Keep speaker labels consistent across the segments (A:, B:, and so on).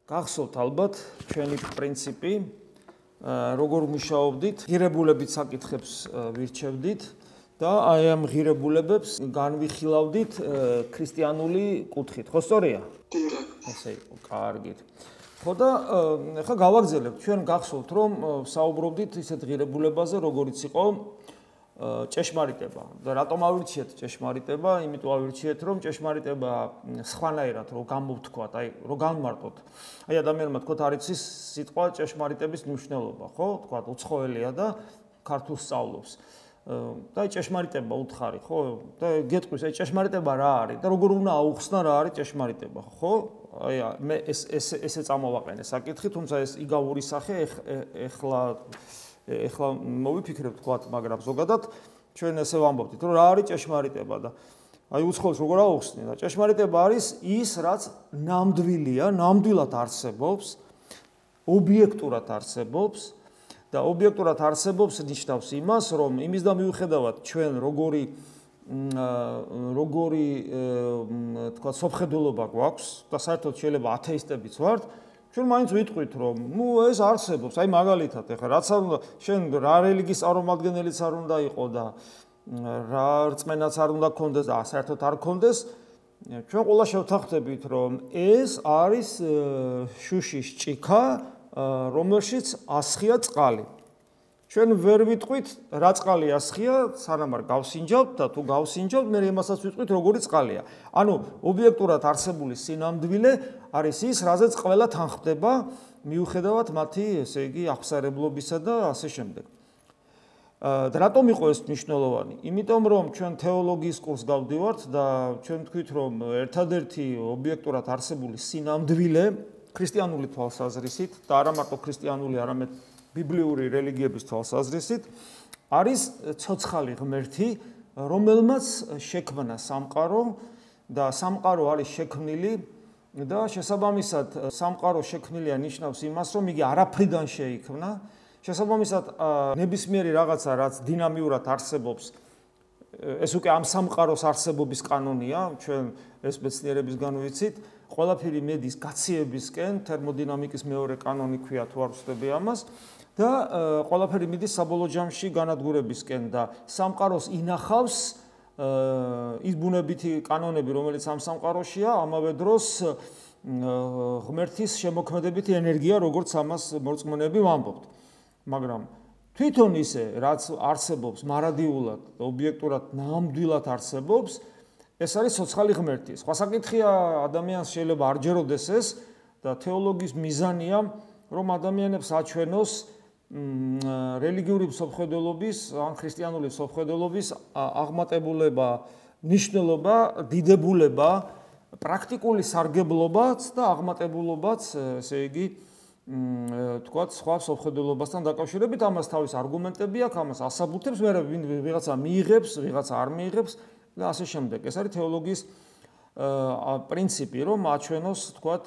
A: გახსოვთ ალბათ ჩვენი პრინციპი, როგორ მუშაობდით, ღირებულებით საკითხებს ვირჩევდით და აი ამ ღირებულებებს განვიხილავდით ქრისტიანული კუთხით. ხო სწორია? ესე იყო, კარგით. ხო და ახლა გავაგზავნებთ, ჩვენ გახსოვთ რომ საუბრობდით ისეთ ღირებულებაზე, როგორიც იყო ჭეშმარიტება. და რატომ ავირჩიეთ ჭეშმარიტება? იმიტომ ავირჩიეთ, რომ ჭეშმარიტება სხვანაირად რო გამოვთქვათ, აი რო განმარტოთ. აი ადამიანმა თქვათ არ იცის სიტყვა ჭეშმარიტების მნიშვნელობა, ხო? თქვათ უცხოელია და ქართულს სწავლობს. და აი ჭეშმარიტება უთხარი, ხო? და გეტყვის, აი ჭეშმარიტება რა არის და როგორ უნდა აუხსნა რა არის ჭეშმარიტება, ხო? აი მე ესე წამოვაყენე საკითხი, თუმცა ეს იგავური სახე ეხლა მოვიფიქრებთ თქვათ, მაგრამ ზოგადად ჩვენ ესე ვამბობთ, რომ რა არის ჭეშმარიტება და აი უცხოელს როგორ აუხსნი და ჭეშმარიტება არის ის, რაც ნამდვილია, ნამდვილად არსებობს, ობიექტურად არსებობს და ობიექტურად არსებობს ნიშნავს იმას, რომ იმის და მიუხედავად ჩვენ როგორი თქვა სოფხედულობა გვაქვს და საერთოდ შეიძლება ათეისტებიც ვართ, ჩვენ მაინც ვიტყვით, რომ ეს არსებობს, აი მაგალითად, ეხლა რაც არ უნდა, შენ რა რელიგიის წარმომადგენელიც არ უნდა იყო და რა რწმენაც არ უნდა გქონდეს და საერთოდ არ გქონდეს, ჩვენ ყველა შევთანხმდებით, რომ ეს არის შუშის ჭიქა, რომელშიც ასხია წყალი. ჩვენ ვერ ვიტყვით რა წყალი ასხია, სანამ არ გავსინჯავთ და თუ გავსინჯავთ, მე იმასაც ვიტყვით, როგორი წყალია. ანუ ობიექტურად არსებული სინამდვილე არის ის, რაზეც ყველა თანხმდება, მიუხედავად მათი, ესე იგი, აღსარებლობისა და ასე შემდეგ. და რატომ იყო ეს მნიშვნელოვანი? იმიტომ რომ ჩვენ თეოლოგიის კურსს გავდივართ და ჩვენ თქვით, რომ ერთადერთი ობიექტურად არსებული სინამდვილე ქრისტიანული თვალსაზრისით და არა მარტო ქრისტიანული, არამედ ბიბლიური რელიგიების თვალსაზრისით არის ცოცხალი ღმერთი, რომელმაც შექმნა სამყარო და სამყარო არის შექმნილი და შესაბამისად სამყარო შექმნილია ნიშნავს იმას, რომ იგი არაფრიდან შეიქმნა. შესაბამისად ნებისმიერი რაღაცა, რაც დინამიურად არსებობს, ეს უკვე ამ სამყაროს არსებობის კანონია, ჩვენ ეს მეცნიერებისგან ვიცით, ყველაფერი მედის გაციებისკენ, თერმოდინამიკის მეორე კანონი ქვია, თუ არ ვცდები ამას. და ყველაფერი მიდის საბოლოო ჯამში განადგურებისკენ და სამყაროს ინახავს ის ბუნებითი კანონები, რომელიც ამ სამყაროშია, ამავე დროს ღმერთის შემოქმედებითი ენერგია, როგორც ამას მორწმუნეები ვამბობთ. მაგრამ თვითონ ისე, რაც არსებობს მარადიულად, ობიექტურად ნამდვილად არსებობს, ეს არის ცოცხალი ღმერთი. სხვა საკითხია, ადამიანს შეიძლება არ ჯეროდეს ეს და თეოლოგიის მიზანია, რომ ადამიანებს აჩვენოს რელიგიური მსოფლმხედველობის ან ქრისტიანული მსოფლმხედველობის აღმატებულება, ნიშნულობა, დიდებულება, პრაქტიკული სარგებლობაც და აღმატებულობაც, ესე იგი, თქვათ, სხვა მსოფლმხედველობასთან დაკავშირებით, ამას თავის არგუმენტები აქვს, ამას ასაბუთებს, მე ვიღაცა მიიღებს, ვიღაცა არ მიიღებს და ასე შემდეგ. ეს არის თეოლოგიის პრინციპი, რომ აჩვენოს, თქვათ,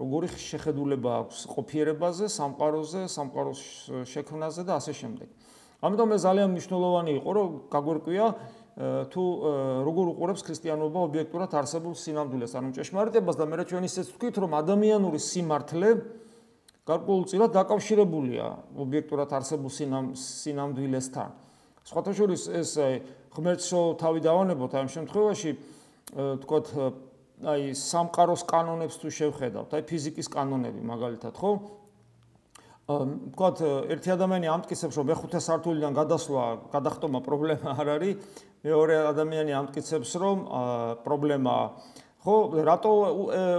A: როგორი შეხედულება აქვს ყოფიერებაზე, სამყაროზე, სამყაროს შექმნაზე და ასე შემდეგ. ამიტომ ეს ძალიან მნიშვნელოვანი იყო, რომ გაგვერკვია თუ როგორ უყურებს ქრისტიანობა ობიექტურად არსებულ სინამდვილეს, ანუ ჭეშმარიტებას და მე ჩვენ ისეც ვთქვით, რომ ადამიანური სიმართლე გარკვეულწილად დაკავშირებულია ობიექტურად არსებულ სინამდვილესთან. სხვათა შორის ეს ღმერთს თავი დავანებოთ ამ შემთხვევაში, თქვათ, აი სამყაროს კანონებს თუ შევხედავთ, აი ფიზიკის კანონები მაგალითად, ხო? თქვათ, ერთი ადამიანი ამტკიცებს, რომ მეხუთე სართულიდან გადასვლა, გადახტომა პრობლემა არ არის, მეორე ადამიანი ამტკიცებს, რომ პრობლემაა. ხო, რატო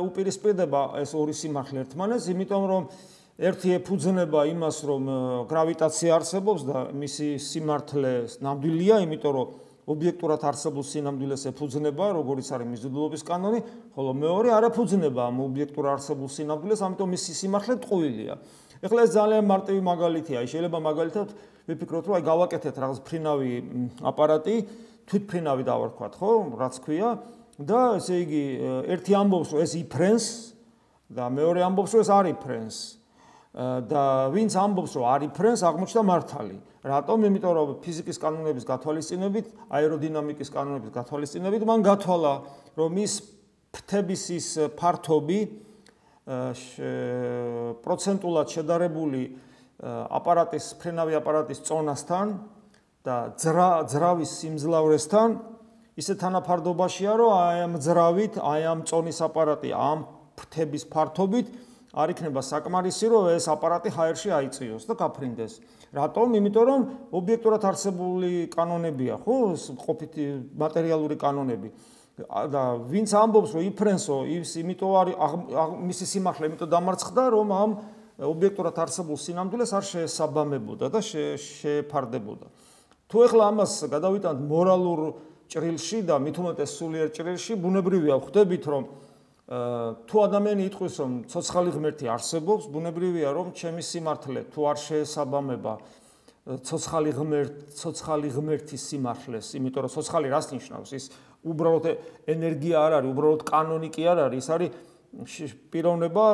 A: უპირისპირდება ეს ორი სიმართლე ერთმანეთს? იმიტომ რომ ერთი ეფუძნება იმას, რომ გრავიტაცია არსებობს და მისი სიმართლე ნამდვილია, იმიტომ რომ ობიექტურად არსებულ სინამდვილეს ეფუძნება, როგორც არის მიზიდულობის კანონი, ხოლო მეორე არ ეფუძნება ამ ობიექტურად არსებულ სინამდვილეს, ამიტომ მისი სიმართლე ტყუილია. ეხლა ეს ძალიან მარტივი მაგალითია, შეიძლება მაგალითად ვიფიქროთ, რომ აი გავაკეთეთ რაღაც ფრინავი აპარატი, თვითფრინავი დავარქვათ, ხო, რაც ქვია და ესე იგი ერთი ამბობს, რომ ეს იფრენს და მეორე ამბობს, რომ ეს არ იფრენს. და ვინც ამბობს, რომ არ იფრენს, აღმოჩნდა მართალი. რატომ? იმიტომ რომ ფიზიკის კანონების გათვალისწინებით, აეროდინამიკის კანონების გათვალისწინებით, მან გათვალა, რომ ის ფრთების ის ფართობი პროცენტულად შედარებული აპარატის, ფრენავი აპარატის წონასთან და ძრავის სიმძლავრესთან ისე თანაფარდობაშია, რომ აი ამ ძრავით, აი ამ წონის აპარატი ამ ფრთების ფართობით არ იქნება საკმარისი, რომ ეს აპარატი ჰაერში აიწიოს და გაფრინდეს. რატომ? იმიტომ რომ ობიექტურად არსებული კანონებია, ხო, ყოფითი მატერიალური კანონები. და ვინც ამბობს, რომ იფრენსო, იმიტომ არის მისი სიმართლე, იმიტომ დამარცხდა, რომ ამ ობიექტურად არსებულ სინამდვილეს არ შეესაბამებოდა და შეეფარდებოდა. თუ ეხლა ამას გადავიტანთ მორალურ ჭრილში და მით უმეტეს სულიერ ჭრილში, ბუნებრივია ვხვდებით, რომ თუ ადამიანი იტყვის, რომ ცოცხალი ღმერთი არსებობს, ბუნებრივია, რომ ჩემი სიმართლე თუ არ შეესაბამება ცოცხალი ღმერთის სიმართლეს, იმიტომ რომ ცოცხალი რას ნიშნავს? ის უბრალოდ ენერგია არ არის, უბრალოდ კანონი კი არ არის, ის არის პიროვნება,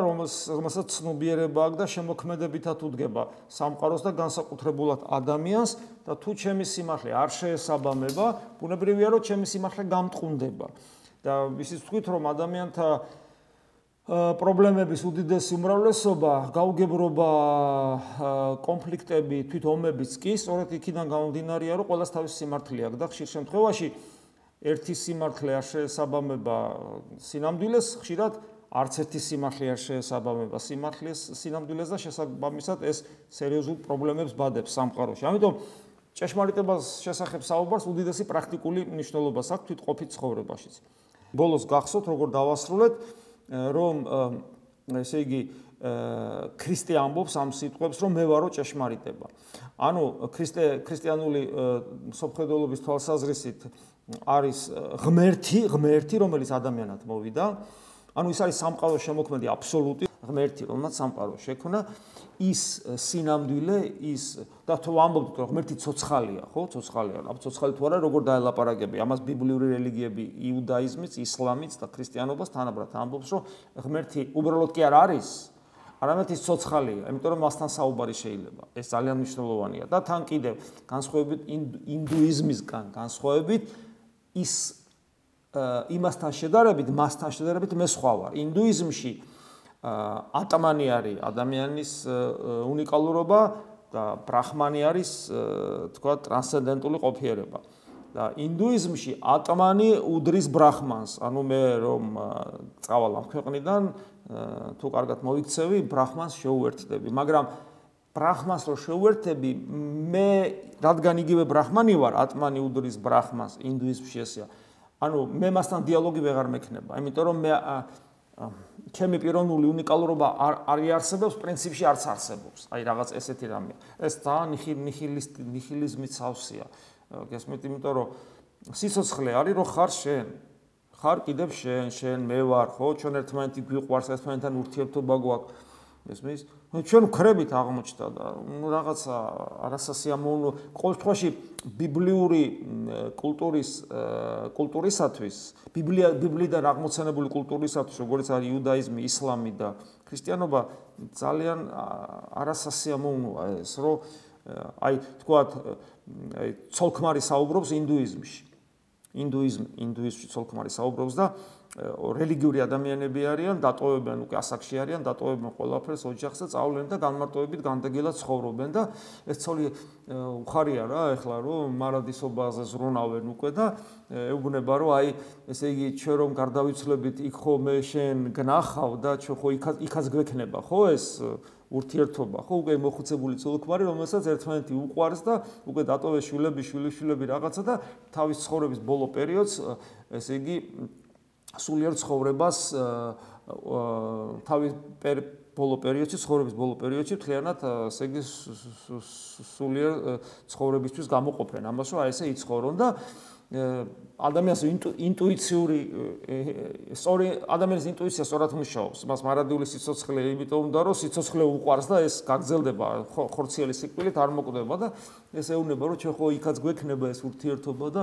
A: რომელსაც ცნობიერება აქვს და შემოქმედებითად უდგება სამყაროს და განსაკუთრებულად ადამიანს და თუ ჩემი სიმართლე არ შეესაბამება, ბუნებრივია, რომ ჩემი სიმართლე გამტყუნდება. და ისიც ვთქვით, რომ ადამიანთა პრობლემების უდიდესი უმრავლესობა, გაუგებრობა, კონფლიქტები, თვით ომებიც კი სწორედ იქიდან გამომდინარეა, რომ ყველას თავის სიმართლე აქვს და ხშირ შემთხვევაში ერთი სიმართლე არ შეესაბამება სინამდვილეს, ხშირად არც ერთი სიმართლე არ შეესაბამება სინამდვილეს და შესაბამისად ეს სერიოზულ პრობლემებს ბადებს სამყაროში. ამიტომ ჭეშმარიტებას შესახებ საუბარს უდიდესი პრაქტიკული მნიშვნელობა აქვს თვით ყოფით ცხოვრებაშიც. ბოლოს გახსოვთ, როგორ დავასრულეთ, რომ ესე იგი ქრისტე ამბობს ამ სიტყვებს, რომ მე ვარო ჭეშმარიტება. ანუ ქრისტიანული მსოფლმხედველობის თვალსაზრისით არის ღმერთი, რომელიც ადამიანად მოვიდა. ანუ ის არის სამყაროს შემოქმედი აბსოლუტი ღმერთი, რომელმაც სამყარო შექმნა. ის სინამდვილე, ის და თუ ამბობთ, რომ ღმერთი ცოცხალია, ხო, ცოცხალია. აბა ცოცხალი თუ არა, როგორ დაელაპარაკები? ამას ბიბლიური რელიგიები, იუდაიზმიც, ისლამიც და ქრისტიანობას თანაბრად ამბობს, რომ ღმერთი უბრალოდ კი არ არის, არამედ ის ცოცხალია, იმიტომ რომ მასთან საუბარი შეიძლება. ეს ძალიან მნიშვნელოვანია და თან კიდევ განსხვავებით ინდუიზმისგან, განსხვავებით ის იმასთან შედარებით, მასთან შედარებით მე სხვა ვარ. ინდუიზმში ატმანი არის ადამიანის უნიკალურობა და ბრაჰმანი არის, თქვა, ტრანსცენდენტული ყოფიერება. და ინდუიზმში ატმანი უდრის ბრაჰმანს. ანუ მე რომ წავალ ამ ქვეყნიდან, თუ კარგად მოიქცევი, ბრაჰმანს შეუერთდები. მაგრამ ბრაჰმანს რო შეუერთები, მე რადგან იგივე ბრაჰმანი ვარ, ატმანი უდრის ბრაჰმანს, ინდუიზმში ესეა. ანუ მე მასთან დიალოგი ვეღარ მექნება, იმიტომ რომ მე ჩემი პიროვნული უნიკალურობა არ იარსებობს, პრინციპში არც არსებობს. აი რაღაც ესეთი რამეა. ეს ძალიან ნიჰილიზმის სავსეა. გესმით, იმიტომ რომ სიცოცხლე არის, რომ ხარ შენ. ხარ კიდევ შენ მე ვარ, ხო? ჩვენ ერთმანეთი გვიყვარს, ერთმანეთთან ურთიერთობა გვაქვს. გესმის? ჩვენ ვქრებით აღმოჩნდა და რაღაცა არასასიამოვნო, ყოველ შემთხვევაში ბიბლიური კულტურისათვის, ბიბლიიდან აღმოცენებული კულტურისათვის, როგორც არის იუდაიზმი, ისლამი და ქრისტიანობა, ძალიან არასასიამოვნოა ეს, რომ აი თქვათ, აი ცოლქმარი საუბრობს ინდუიზმში. ინდუიზმში ცოლქმარი საუბრობს და რელიგიური ადამიანები არიან, დატოვებენ უკვე ასაკში არიან, დატოვებენ ყველაფერს ოჯახს და წავლენ და განმარტოებით განდეგილად ცხოვრობენ და ეს ცოლი უხარია რა, ეხლა რომ მარადისობაზე ზრუნავენ უკვე და ეუბნება რომ აი ესე იგი ჩვენ რომ გარდავიცვლებით იქ ხო მე შენ გნახავ და ჩვენ ხო იქაც გვექნება ხო ეს ურთიერთობა ხო უკვე მოხუცებული ცოლქმარი რომელსაც ერთმანეთი უყვარს და უკვე დატოვეს შვილები რაღაცა და თავის ცხოვრების ბოლო პერიოდს ესე იგი სულიერ ცხოვრებას თავის ბოლო პერიოდში ცხოვრების ბოლო პერიოდში მთლიანად ესე იგი სულიერ ცხოვრებისთვის გამოყოფენ ამას რომ აი ესე იცხოვრონ და ადამიანის ინტუიციური სწორი ადამიანის ინტუიცია სწორად მუშაობს მას მარადიული სიცოცხლე იმიტომ უნდა რომ სიცოცხლე უყვარს და ეს გაგრძელდება ხორციელი სიკვდილით არ მოკვდება და ეს ეუბნება რომ ჩვენ ხო იქაც გვექნება ეს ურთიერთობა და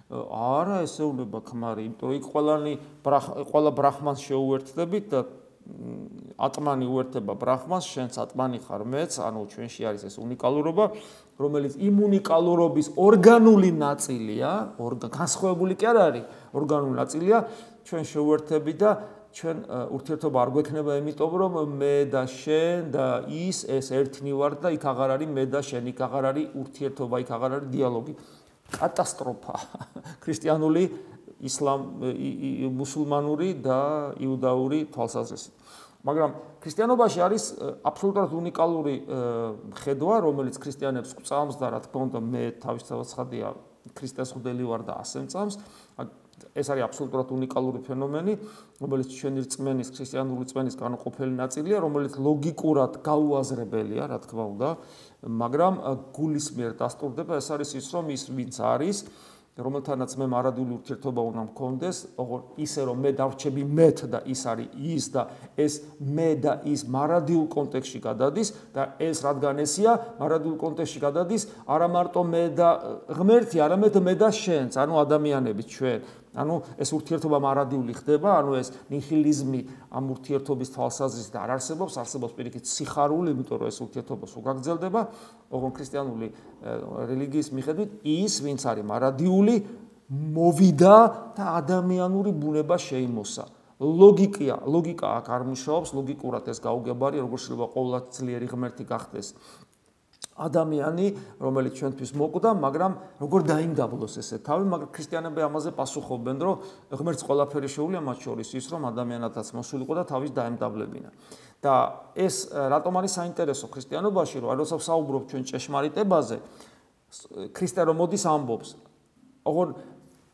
A: არა ესეუნება ქმარი, იმიტომ რომ იქ ყველა ბრაჰმანს შეუერთდებით და ატმანი უერთდება ბრაჰმანს, შენც ატმანი ხარ მეც, ანუ ჩვენში არის ეს უნიკალურობა, რომელიც იმ უნიკალურობის ორგანული ნაწილია, განსხვავებული კი არ არის, ორგანული ნაწილია, ჩვენ შეუერთდებით და ჩვენ ურთიერთობა არ გვექნება იმიტომ რომ მე და შენ და ის ეს ერთნი ვართ და იქ აღარ არის მე და შენ, იქ აღარ არის ურთიერთობა, იქ აღარ არის დიალოგი. კატასტროფა. ქრისტიანული, მუსულმანური და იუდაური თვალსაზრისით. მაგრამ ქრისტიანობაში არის აბსოლუტურად უნიკალური ხედვა, რომელიც ქრისტიანებს გვწამს და რა თქმა უნდა მე თავისთავად ცხადია ქრისტეს ხვდელი ვარ და ასე მწამს. ეს არის აბსოლუტურად უნიკალური ფენომენი, რომელიც ჩვენი რწმენის, ქრისტიანული რწმენის განუყოფელი ნაწილია, რომელიც ლოგიკურად გაუაზრებელია, რა თქმა უნდა, მაგრამ გულის მიერ დასტურდება. ეს არის ის, რომ ის ვინც არის, რომელთანაც მე მარადიული ურთიერთობა უნდა მქონდეს, ისე რომ მე დავრჩები მეთ და ის არის ის და ეს მე და ის მარადილ კონტექსტში გადადის და ეს რადგან ესია, მარადილ კონტექსტში გადადის არა მარტო მე და ღმერთი, არამედ მე და შენც, ანუ ადამიანები ჩვენ. ანუ ეს ურთიერთობა მარადიული ხდება, ანუ ეს ნიჰილიზმი ამ ურთიერთობის თვალსაზრისით არ არსებობს, არსებობს პირიქით სიხარული, იმიტომ რომ ეს ურთიერთობა სულ გაგრძელდება, ოღონდ ქრისტიანული რელიგიის მიხედვით ის, ვინც არის მარადიული, მოვიდა და ადამიანური ბუნება შეიმოსა. ლოგიკა აქ არ მუშაობს, ლოგიკურად ეს გაუგებარი, როგორ შეიძლება ყოვლადწლიერი ღმერთი გახდეს ადამიანი, რომელიც ჩვენთვის მოკვდა, მაგრამ როგორ დაიმდაბლოს ესე თავი, მაგრამ ქრისტიანები ამაზე პასუხობენ, რომ ღმერთს ყველაფერი შეუძლია, მათ შორის ის, რომ ადამიანადაც მოსულიყო და თავის დაემდაბლებინა. და ეს რატომ არის საინტერესო ქრისტიანობაში, რომ როცა ვსაუბრობ ჩვენ ჭეშმარიტებაზე, ქრისტე რომ მოდის ამბობს, ოღონდ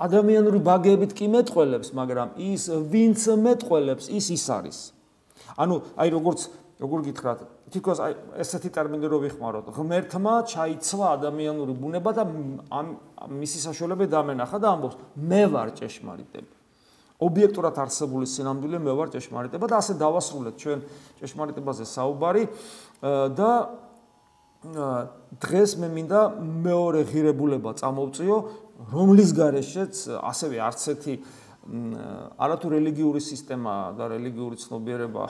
A: ადამიანური ბაგეებით კი მეტყველებს, მაგრამ ის ვინც მეტყველებს, ის არის. ანუ აი როგორ გითხრათ, თითქოს აი ესეთი ტერმინი რო ვიხმაროთ, ღმერთმა ჩაიცვა ადამიანური ბუნება და მისი საშუალება დამენახა და ამბობს, მე ვარ ჭეშმარიტება. ობიექტურად არსებული სინამდვილე მე ვარ ჭეშმარიტება და ასე დავასრულეთ ჩვენ ჭეშმარიტებაზე საუბარი და დღეს მე მინდა მეორე ღირებულება წამოვწიო, რომლის გარეშეც ასევე არც ერთი არათუ რელიგიური სისტემა და რელიგიური ცნობიერება,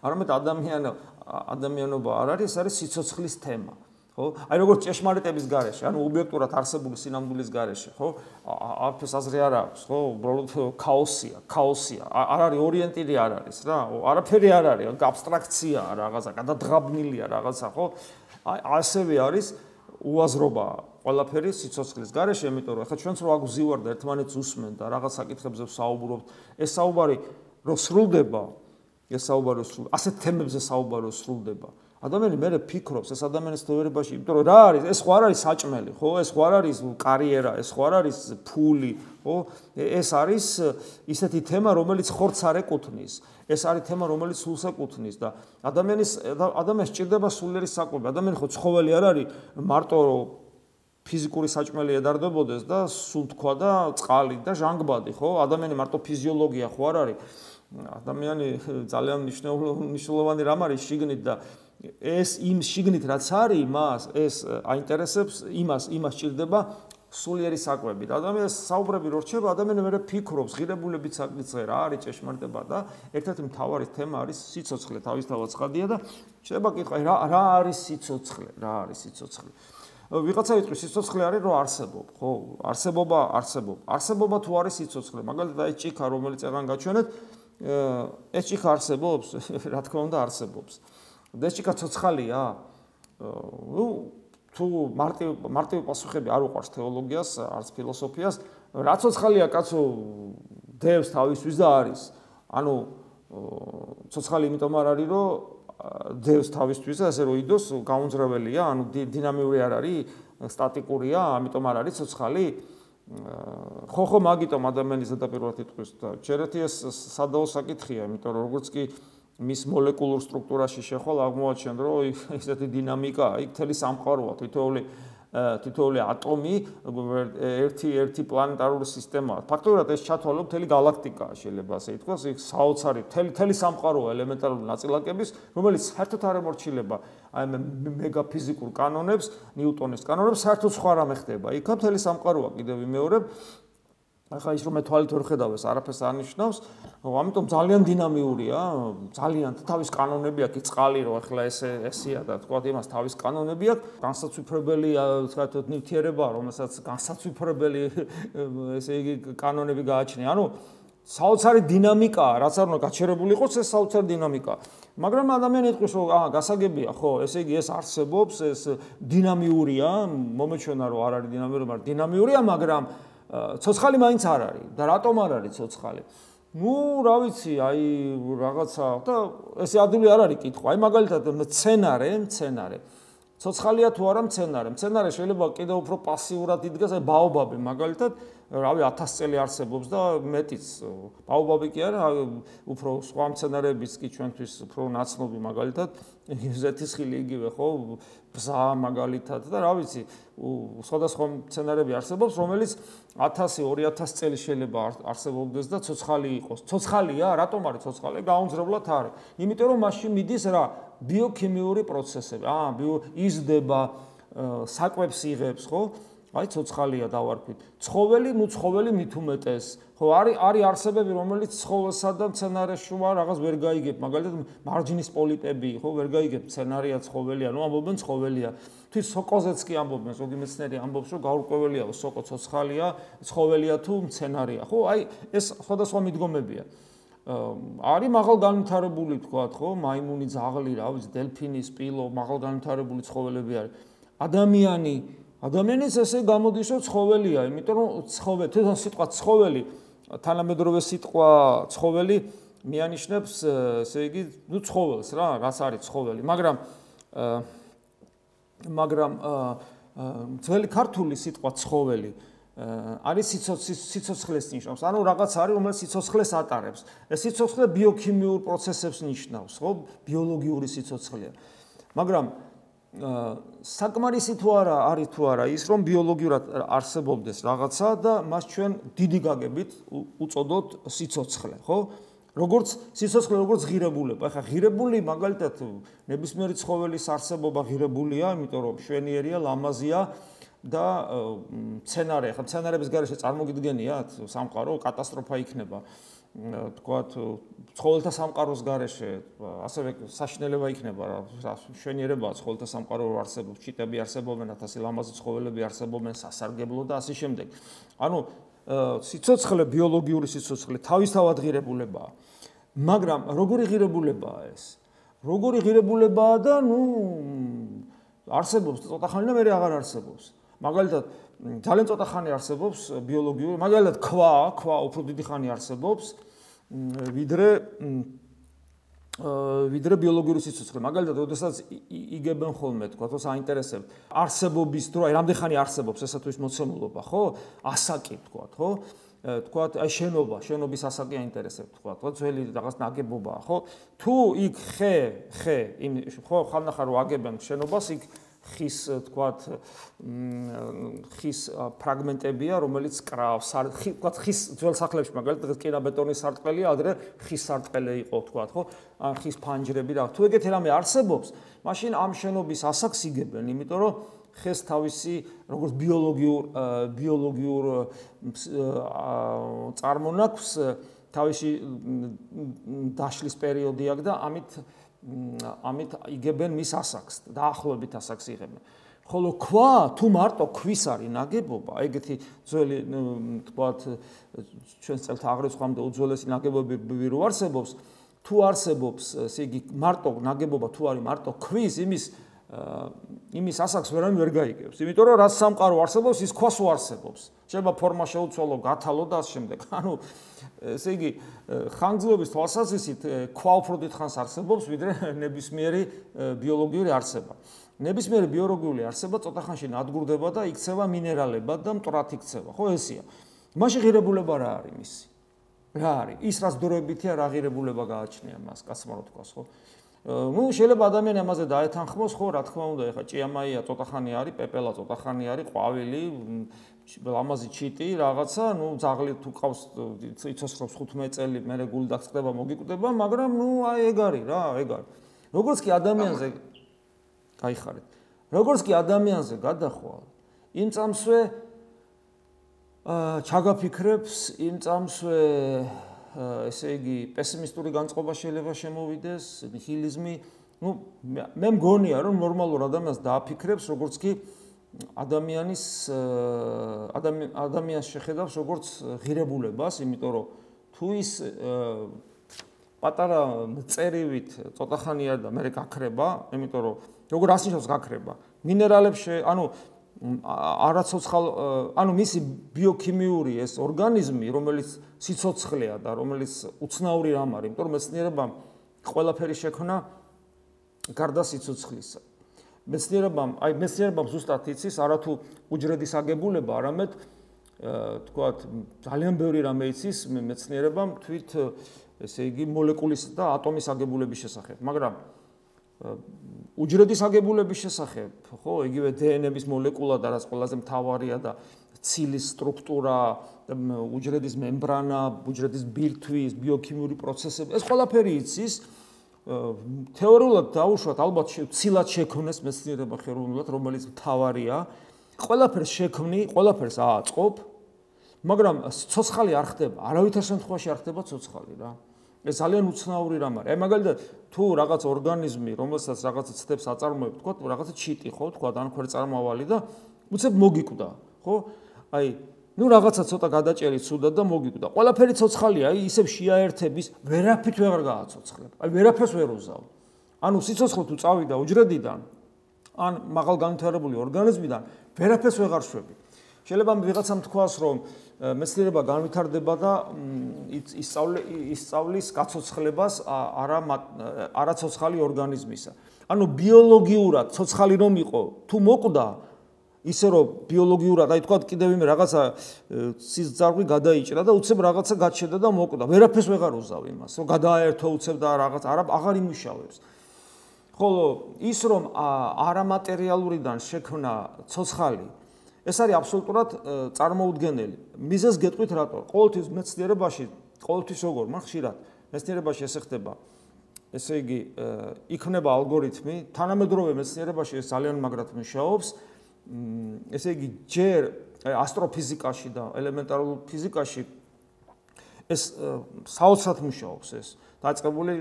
A: არამედ ადამიანობა არ არის, ეს არის სიცოცხლის თემა. ხო? აი როგორც ჭეშმარიტების გარეშე, ანუ ობიექტურად არსებული სინამდვილის გარეშე, ხო? არაფერს აზრი არ აქვს, ხო? უბრალოდ ქაოსია. არ არის ორიენტირი არ არის რა. არაფერი არ არის, აბსტრაქცია რაღაცა, გადადღაბნილია რაღაცა, ხო? ასევე არის უაზრობა ყველაფერი სიცოცხლის გარეშე, იმიტომ რომ ახლა ჩვენც რო აგვზივარ და ერთმანეთს უსმენ და რაღაც საკითხებზე ვსაუბრობთ, ეს საუბარი რო სრულდება, ასეთ თემებზე საუბარი რო სრულდება, ადამიანი მერე ფიქრობს ეს ადამიანის ცხოვრებაში, იმიტომ რომ რა არის, ეს ხო არ არის საჭმელი, ხო? ეს ხო არ არის კარიერა, ეს ხო არ არის ფული, ხო? ეს არის ისეთი თემა, რომელიც ხორცს არ ეკუთვნის. ეს არის თემა, რომელიც სულს ეკუთვნის და ადამიანს სჭირდება სულიერი საკვები. ადამიანი ხო ცხოველი არ არის, მარტო ფიზიკური საჭმელი ედარდებოდეს და სუნთქვა და წყალი და ჟანგბადი, ხო? ადამიანი მარტო ფიზიოლოგია ხო არ არის. ადამიანი ძალიან მნიშვნელოვანი რამ არის შიგნით და ეს იმ შიგნით რაც არის მას, ეს აინტერესებს, იმას სჭირდება სულიერი საკვები. და ადამიანს საუბრები რო რჩება, ადამიანი მერე ფიქრობს, ღირებულებიც საკითხზე რა არის ჭეშმარიტება და ერთ-ერთი მთავარი თემა არის სიცოცხლე, თავისთავად ცხადია და შეიძლება კითხვა, რა არის სიცოცხლე? რა არის სიცოცხლე? ვიღაცა იტყვის, სიცოცხლე არის რომ არსებობ, ხო? არსებობა თუ არის სიცოცხლე, მაგალითად ეს ჭიქა, რომელიც ეგან გაჩვენეთ, ეს ჭიქა არსებობს? რა თქმა უნდა არსებობს. და ეს ჭიქა ცოცხალია? თუ მარტივი პასუხები არ უყვარს თეოლოგიას, არც ფილოსოფიას, რა ცოცხალია კაცო, დევს თავისთვის და არის. ანუ ცოცხალი იმიტომ არ არის, რომ დევს თავისთვის და ასე რომ იდოს გაუნძრეველია, ანუ დინამიური არ არის, სტატიკურია, ამიტომ არ არის ცოცხალი. ხო, მაგიტომ ადამიანის ზედაპირულად იტყვის და ჯერეთი ეს სადაო საკითხია, იმიტომ რომ როგორც კი მის მოლეკულურ სტრუქტურაში შეხვალ აღმოაჩენ, რომ ესეთი დინამიკაა, იქ მთელი სამყაროა, თითოეული ატომი ერთი პლანეტარული სისტემაა. ფაქტობრივად ეს ჩათვალო მთელი გალაქტიკაა, შეიძლება ასე ითქვას, იქ საოცარი მთელი სამყაროა ელემენტარული ნაწილაკების, რომელიც საერთოდ არ ემორჩილება აი მეგაფიზიკურ კანონებს, ნიუტონის კანონებს, საერთოდ სხვა რამე ხდება. იქ მთელი სამყაროა კიდევ ვიმეორებ. ახლა ის რომ მე თვალით ვერ ხედავ ეს არაფერს არ ნიშნავს, ამიტომ ძალიან დინამიურია, ძალიან თავის კანონები აქვს, წყალი რო ახლა ესეა და თქვა იმას თავის კანონები აქვს, განსაცვიფრებელი, ვთქვათ, ნივთიერება, რომელსაც განსაცვიფრებელი ესე იგი კანონები გააჩნია. ანუ საოცარი დინამიკაა, რაც არ უნდა გაჩერებული იყოს ეს საოცარი დინამიკა. მაგრამ ადამიანი იტყვის, რომ გასაგებია, ხო, ესე იგი ეს არსებობს, ეს დინამიურია, მომეჩვენა რომ არ არის დინამიური, მაგრამ დინამიურია, მაგრამ ცოცხალი მაინც არ არის და რატომ არ არის ცოცხალი? ნუ რა ვიცი, აი რაღაცა და ეს ადვილი არ არის კითხვა. აი მაგალითად მცენარე ცოცხალია თუ არა მცენარე შეიძლება კიდევ უფრო პასიურად იდგას, აი ბაობაბი მაგალითად, რავი 1000 წელი არსებობს და მეტიც. ბაობაბი კი არა, უფრო სხვა მცენარეების კი ჩვენთვის უფრო ნაცნობი მაგალითად, ზეთისხილი იგივე ხო, ბზა მაგალითად და რა ვიცი, სხვადასხვა მცენარეები არსებობს, რომელიც 1000-2000 წელი შეიძლება არსებობდეს და ცოცხალი იყოს. ცოცხალია, რატომ არის ცოცხალი? გაუმძრებლად არის. იმიტომ რომ მასში მიდის რა ბიოქიმიური პროცესები. იზრდება, საკვებს იღებს, ხო? აი ცოცხალია დავარქვით. ცხოველი მით უმეტეს. ხო, არის არსებები, რომელიც ცხოველსა და მცენარეს შუა რაღაც ვერ გაიგებ. მაგალითად, მარჯნის პოლიპები, ხო, ვერ გაიგებ, მცენარეა, ცხოველია, ნუ ამბობენ ცხოველია. თვით სოკოზეც კი ამბობენ, ზოგი მეცნიერი ამბობს, რომ გაურკვეველია, სოკო ცოცხალია, ცხოველია თუ მცენარეა. ხო, აი ეს სხვადასხვა მიდგომებია. არის მაღალ განვითარებული თქვათ, ხო, მაიმუნი, ძაღლი, რა ვიცი, დელფინი, სპილო, მაღალ განვითარებული ცხოველები არის. ადამიანის ესე გამოდის, რომ ცხოველია, იმიტომ რომ თვითონ სიტყვა ცხოველი, თანამედროვე სიტყვა ცხოველი მიანიშნებს, ესე იგი, ნუ ცხოველს რა, რაც არის ცხოველი, მაგრამ ძველი ქართული სიტყვა ცხოველი არის სიცოცხლეს ნიშნავს. ანუ რაღაც არის, რომელიც სიცოცხლეს ატარებს. ეს სიცოცხლე ბიოქიმიურ პროცესებს ნიშნავს, ხო? ბიოლოგიური სიცოცხლეა. მაგრამ საკმარისი თუ არა არის თუ არა ის, რომ ბიოლოგიურად არსებობდეს რაღაცა და მას ჩვენ დიდი გაგებით უწოდოთ სიცოცხლე, ხო? როგორც სიცოცხლე, როგორც ღირებულება. ახლა ღირებული მაგალითად ნებისმიერი ცხოველის არსებობა ღირებულია, იმიტომ რომ მშვენიერია, ლამაზია და მცენარე, ახლა მცენარების გარეშე წარმოგიდგენიათ სამყარო, კატასტროფა იქნება. თქვათ, ცხოველთა სამყაროს გარეშე ასევე საშინელება იქნება რა, მშვენიერებაა ცხოველთა სამყარო არსებობს, ჩიტები არსებობენ, 1000 ლამაზი ცხოველები არსებობენ, სასარგებლო და ასე შემდეგ. ანუ სიცოცხლე, ბიოლოგიური სიცოცხლე თავისთავად ღირებულებაა. მაგრამ როგორი ღირებულებაა ეს? როგორი ღირებულებაა და ნუ არსებობს ცოტა ხანი და მე აღარ არსებობს. მაგალითად, ძალიან ცოტა ხანი არსებობს ბიოლოგიური, მაგალითად ქვა უფრო დიდი ხანი არსებობს, ვიდრე ბიოლოგიური სიცოცხლე. მაგალითად, როდესაც იგებენ ხოლმე, თქვა, რომ საინტერესებს არსებობის დრო, აი რამდენი ხანი არსებობს ესათვის მოცემულობა, ხო? ასაკი, თქვა, ხო? თქვა, აი შენობის ასაკი აინტერესებს, თქვა, ძველი რაღაც ნაგებობაა, ხო? თუ იქ ხო, ხანახარ რომ აგებენ შენობას, იქ ხის, თქვათ, ხის ფრაგმენტებია, რომელიც კრავს, თქვათ, ხის ძველ სახლებში, მაგალითად, კირაბეტონის სარტყელია, ადრე ხის სარტყელი იყო, თქვათ, ხო? ან ხის ფანჯრები რა. თუ ეგეთი რამე არსებობს, მაშინ ამ შენობის ასაკს იგებენ, იმიტომ რომ ხეს თავისი როგორც ბიოლოგიურ წარმონაქმს თავისი დაშლის პერიოდი აქვს და ამით იგებენ მის ასაკს, დაახლოებით ასაკს იღებენ. ხოლო ქვა, თუ მარტო ქვის არის ნაგებობა, ეგეთი ძველი, თქვათ, ჩვენს წელთა აღრიცხვამდე უძველესი ნაგებობები რო არსებობს, თუ არსებობს, ესე იგი, მარტო ნაგებობა თუ არის მარტო ქვის, იმის ასაკს ვერანაირად ვერ გაიგებს. იმიტომ რომ რაც სამყარო არსებობს, ის ქვას უარსებობს. შეიძლება ფორმა შეუცვალო, გათალო და ასე შემდეგ. ანუ ესე იგი, ხანგრძლივობის თვალსაზრისით ქვა უფრო დიდ ხანს არსებობს, ვიდრე ნებისმიერი ბიოლოგიური არსება. ნებისმიერი ბიოლოგიური არსება ცოტა ხანში ნადგურდება და იქცევა მინერალებად და მტრად იქცევა. ხო, ესეა. მაშინ ღირებულება რა არის მისი? რა არის? ის რაც დროებითია, რა ღირებულება გააჩნია მას, კაცმა რო თქვას, ხო? ნუ შეიძლება ადამიანი ამაზე დაეთანხმოს, ხო, რა თქმა უნდა, ეხა ჭიამაია ცოტა ხანი არის, პეპელა ცოტა ხანი არის, ყვავილი, ლამაზი ჩიტი, რაღაცა, ნუ ძაღლი თუ ყავს, იცოცხლობს 15 წელი, მერე გული დაწყდება, მოგიკვდება, მაგრამ ნუ აი ეგ არის რა, ეგ არის. როგორც კი ადამიანზე გაიხარეთ. როგორც კი ადამიანზე გადახვალ, იმ წამსვე ჩაგაფიქრებს, იმ წამსვე ესე იგი პესიმისტური განწყობა შეიძლება შემოვიდეს, ნიჰილიზმი. ნუ მე მგონია რომ ნორმალურ ადამიანს დააფიქრებს, როგორც კი ადამიანს შეხედავს როგორც ღირებულებას, იმიტომ რომ თუ ის პატარა მწერივით ცოტა ხანი არ და მე გაქრება, იმიტომ რომ როგორ ასნიშნავს გაქრება. მინერალებში, ანუ არაცოცხალ, ანუ მისი ბიოქიმიური ეს ორგანიზმი, რომელიც სიცოცხლეა და რომელიც უცნაური რამ არის, იმიტომ რომ მეცნიერებამ ყველაფერი შექმნა გარდა სიცოცხლისა. მეცნიერებამ ზუსტად იცის არათუ უჯრედის აგებულება, არამედ თქვათ ძალიან ბევრი რამე იცის მეცნიერებამ თვით ესე იგი მოლეკულის და ატომის აგებულების შესახებ, მაგრამ უჯრედის აგებულების შესახებ, ხო, იგივე დნმ-ის მოლეკულა და რაც ყველაზე მთავარია და ცილის სტრუქტურა, უჯრედის მემბრანა, უჯრედის ბირთვის, ბიოქიმიური პროცესები, ეს ყველაფერი იცის. თეორიულად დაუშვათ, ალბათ ცილად შექმნეს მეცნიერება ხელოვნურად, რომელიც მთავარია. ყველაფერს შექმნი, ყველაფერს ააწყობ, მაგრამ ცოცხალი არ ხდება, არავითარ შემთხვევაში არ ხდება ცოცხალი რა. ეს ძალიან უცნაური რამ არის. აი მაგალითად, თუ რაღაც ორგანიზმი, რომელსაც რაღაცა ცდებს აწარმოებს, თქვა, რაღაცა ჩიტი ხო, თქვა, ან ქვეწარმავალი და უცებ მოგიკვდა, ხო? აი, ნუ რაღაცა ცოტა გადაჭერი ცუდად და მოგიკვდა. ყველაფერი ცოცხალია, აი ისევ შეაერთების, ვერაფრით ვეღარ გააცოცხლებ. აი ვერაფერს ვერ უზავ. ანუ სიცოცხლე თუ წავიდა უჯრედიდან, ან მაღალ განვითარებული ორგანიზმიდან, ვერაფერს ვეღარ შვები. შეიძლება ვიღაცამ თქვას, რომ მეცნიერება განვითარდება და ისწავლის გაცოცხლებას არაცოცხალი ორგანიზმისა. ანუ ბიოლოგიურად ცოცხალი რომ იყო, თუ მოკვდა, ისე რომ ბიოლოგიურად, აი თქვა კიდევ იმ რაღაცა სიზარღვი გადაიჭრა და უცებ რაღაცა გაჩერდა და მოკვდა. ვერაფერს ვეღარ უზავ იმას, რომ გადააერთო უცებ და რაღაც აღარ იმუშავებს. ხოლო ის რომ არამატერიალურიდან შექმნა ცოცხალი, ეს არის აბსოლუტურად წარმოუდგენელი. მიზეზს გეტყვით რატო? ყოველთვის მეცნიერებაში, ყოველთვის როგორ, მაგრამ ხშირად მეცნიერებაში ესე ხდება. ესე იგი, იქნება ალგორითმი, თანამედროვე მეცნიერებაში ეს ძალიან მაგრად მუშაობს. ესე იგი, ჯერ ასტროფიზიკაში და ელემენტარულ ფიზიკაში ეს საოცრად მუშაობს ეს. დაწყებული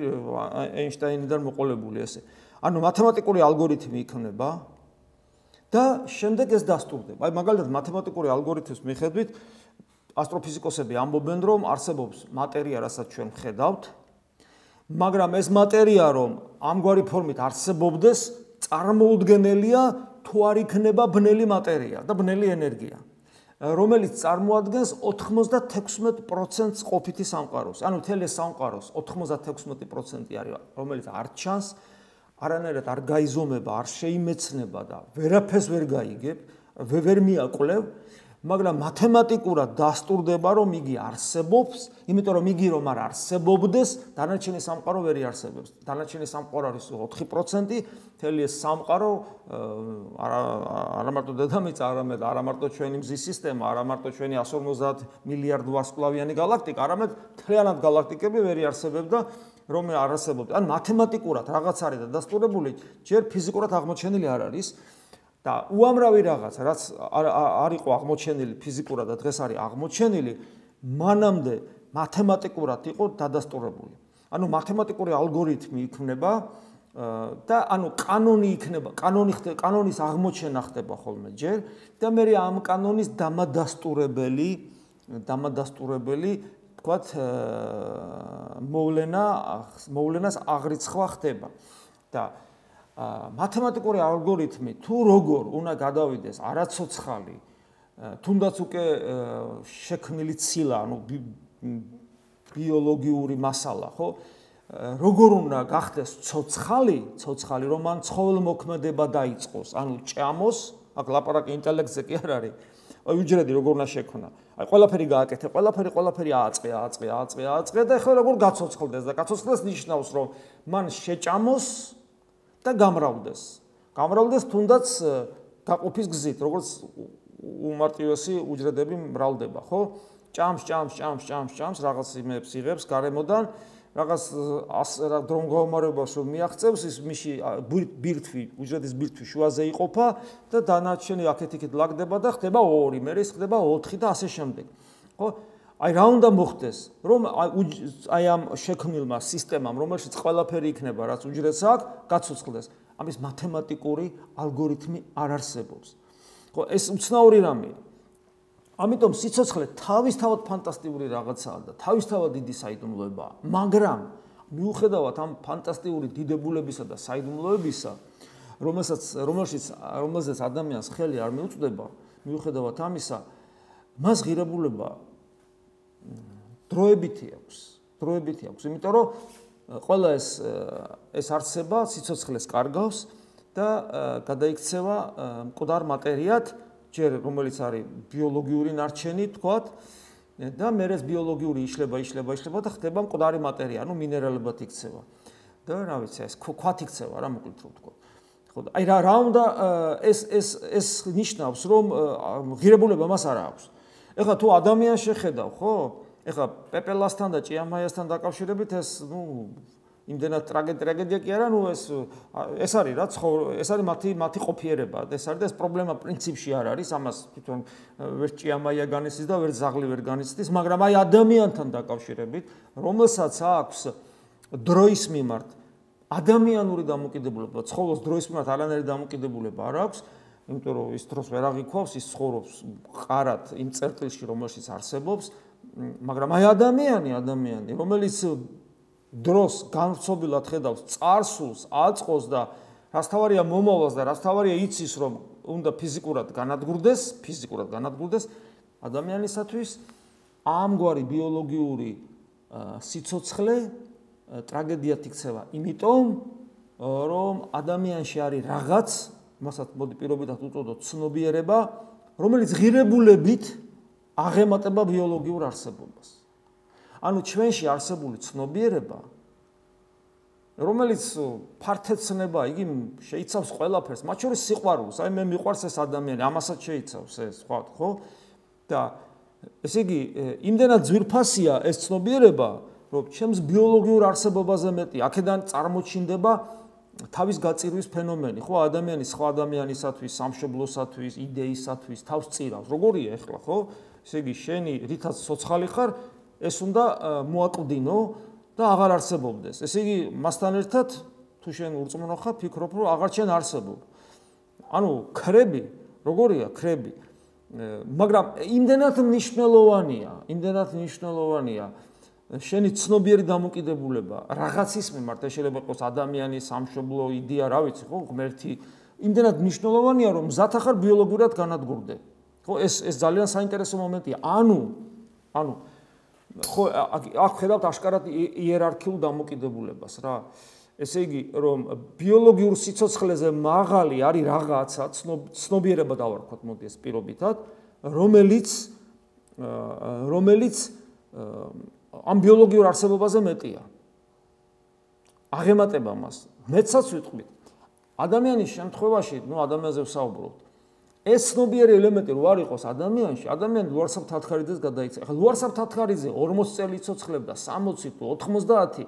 A: ეინშტაინიდან მოყოლებული ესე. ანუ მათემატიკური ალგორითმი იქნება და შემდეგ ეს დასტურდება. აი მაგალითად მათემატიკური ალგორითმის მიხედვით ასტროფიზიკოსები ამბობენ, რომ არსებობს მატერია, რასაც ჩვენ ვხედავთ, მაგრამ ეს მატერია, რომ ამგვარი ფორმით არსებობდეს, წარმოუდგენელია, თუ არ იქნება ბნელი მატერია და ბნელი ენერგია, რომელიც წარმოადგენს 96% ყოფითი სამყაროს. ანუ მთელი სამყაროს 96% არის, რომელიც არ ჩანს, არანაირად არ გაიზომება, არ შეიმეცნება და ვერაფერს ვერ გაიგებ, ვერ მიაკვლევ, მაგრამ მათემატიკურად დასტურდება, რომ იგი არსებობს, იმიტომ რომ იგი რომ არ არსებობდეს, დანარჩენი სამყარო ვერ იარსებებს. დანარჩენი სამყარო არის 4%, მთელი ეს სამყარო არა მარტო დედამიწა, არამედ არა მარტო ჩვენი მზის სისტემა, არა მარტო ჩვენი 150 მილიარდ ვარსკვლავიანი გალაქტიკა, არამედ მთლიანად გალაქტიკები ვერ იარსებებდა, რომ არ არსებობდა. ან მათემატიკურად რაღაც არის და დასტურებული, ჯერ ფიზიკურად აღმოჩენილი არ არის და უამრავი რაღაც, რაც არ იყო აღმოჩენილი ფიზიკურად და დღეს არის აღმოჩენილი, მანამდე მათემატიკურად იყო დადასტურებული. ანუ მათემატიკური ალგორითმი იქმნება და ანუ კანონი იქნება, კანონის აღმოჩენა ხდება ხოლმე ჯერ და მე ამ კანონის დამადასტურებელი თქვათ მოვლენას აღრიცხვა ხდება და მათემატიკური ალგორითმი თუ როგორ უნდა გადავიდეს არაცოცხალი, თუნდაც უკვე შექმნილი ცილა, ანუ ბიოლოგიური მასალა, ხო? როგორ უნდა გახდეს ცოცხალი, რომ მან ცხოველმოქმედება დაიწყოს, ანუ ჭამოს, აქ ლაპარაკი ინტელექტზე კი არ არის. აი უჯრედი როგორ უნდა შექმნა. აი ყველაფერი გააკეთე, ყველაფერი ააწყე და ეხლა როგორ გაცოცხლდეს და გაცოცხლდეს ნიშნავს, რომ მან შეჭამოს და გამრავლდეს. გამრავლდეს თუნდაც გაყოფის გზით, როგორც უმარტივესი უჯრედები მრავლდება, ხო? ჭამს, რაღაც იმებს იღებს გარემოდან, რაღაც დრომ გაუმარებას რომ მიაღწევს, ის მისი უჯრედის ბირთვი შუაზე იყოფა და დანარჩენი აქეთ-იქით ლაგდება და ხდება 2, მერე ხდება 4 და ასე შემდეგ. ხო? აი რა უნდა მოხდეს, რომ აი ამ შექმნილმა სისტემამ, რომელშიც ყველაფერი იქნება, რაც უჯრედს აქვს, გაცოცხლდეს. ამის მათემატიკური ალგორითმი არ არსებობს. ხო, ეს უცნაური რამეა. ამიტომ სიცოცხლე თავისთავად ფანტასტიკური რაღაცაა და თავისთავად დიდი საიდუმლოებაა, მაგრამ მიუხედავად ამ ფანტასტიკური დიდებულებისა და საიდუმლოებისა, რომელზეც ადამიანს ხელი არ მიუწვდება, მიუხედავად ამისა, მას ღირებულება დროებითი აქვს, იმიტომ რომ ყველა ეს არსება სიცოცხლეს კარგავს და გადაიქცევა მკვდარ მატერიად, ჯერ რომელიც არის ბიოლოგიური ნარჩენი, თქვათ, და მერე ბიოლოგიური იშლება და ხდება მკვდარი მატერია, ანუ მინერალებად იქცევა. და რა ვიცი, ეს ქვათ იქცევა რა, მოკლედ რომ ვთქვა. ხო, აი რა უნდა ეს ნიშნავს, რომ ღირებულება მას არ აქვს. ეხლა თუ ადამიანს შეხედავ, ხო? ეხლა პეპელასთან და ჭიამაიასთან დაკავშირებით ეს, იმდენად ტრაგედია კი არა, ეს არის რა, ეს არის მათი ყოფიერება, ეს არის და ეს პრობლემა პრინციპში არ არის, ამას თვითონ ვერ ჭიამაია განიცდის და ვერ ზაღლი ვერ განიცდის, მაგრამ აი ადამიანთან დაკავშირებით, რომელსაც აქვს დროის მიმართ ადამიანური დამოკიდებულება, ცხოველს დროის მიმართ არანაირი დამოკიდებულება არ აქვს, იმიტომ რომ ის დროს ვერ აღიქვავს, ის ცხოვრობს ყარად იმ წერტილში, რომელშიც არსებობს, მაგრამ აი ადამიანი, რომელიც დროს განვრცობილად ხედავს წარსულს, აწყოს და რაც თავარია მომავალს და რაც თავარია იცის, რომ უნდა ფიზიკურად განადგურდეს, ადამიანისათვის ამგვარი ბიოლოგიური სიცოცხლე ტრაგედიად იქცევა, იმიტომ რომ ადამიანში არის რაღაც, მასაც მოდი პირობითად უწოდოთ ცნობიერება, რომელიც ღირებულებით აღემატება ბიოლოგიურ არსებობას. ანუ ჩვენში არსებული ცნობიერება, რომელიც ფართეცნება, იგი შეიცავს ყველაფერს, მათ შორის სიყვარულს, აი მე მიყვარს ეს ადამიანი, ამასაც შეიცავს ეს, ხო? და ესე იგი, იმდენად ძვირფასია ეს ცნობიერება, რომ ჩემს ბიოლოგიურ არსებობაზე მეტი, აქედან წარმოჩინდება თავის გაწირვის ფენომენი, ხო? ადამიანი სხვა ადამიანისათვის, სამშობლოსათვის, იდეისათვის თავს წირავს. როგორია ახლა, ხო? ესე იგი, შენი რითაც ცოცხალი ხარ, ეს უნდა მოაკლდინო და აღარ არსებობდეს. ესე იგი, მასთან ერთად თუ შენ ურწმუნო ხარ, ფიქრობ, რომ აღარ შენ არსებობ. ანუ ქრები, როგორია ქრები? მაგრამ იმდენად მნიშვნელოვანია შენი ცნობიერი დამოკიდებულება რაღაცის მიმართ, შეიძლება იყოს ადამიანი, სამშობლო, იდეა, რა ვიცი, ხო, ღმერთი, იმდენად მნიშვნელოვანია, რომ მზად ახარ ბიოლოგიურად განადგურდე. ხო, ეს ძალიან საინტერესო მომენტია. ანუ ხო, აქ ხედავთ აშკარად იერარქიულ დამოკიდებულებას რა. ესე იგი, რომ ბიოლოგიურ სიცოცხლეზე მაღალი არის რაღაცა, ცნობიერება დავარქვათ, მოდი ეს პირობითად, რომელიც ამ ბიოლოგიურ არსებობაზე მეტია. აღემატება მას. მეცაც ვიტყვით. ადამიანის შემთხვევაში, ადამიანზე ვსაუბრობთ. ეს ცნობიერი ელემენტი რო არ იყოს ადამიანში, ადამიანი ლუარსაბ თათხარიძეს გადაიქცა. ახლა ლუარსაბ თათხარიძე 40 წელი იცოცხლებდა, 60 თუ 90.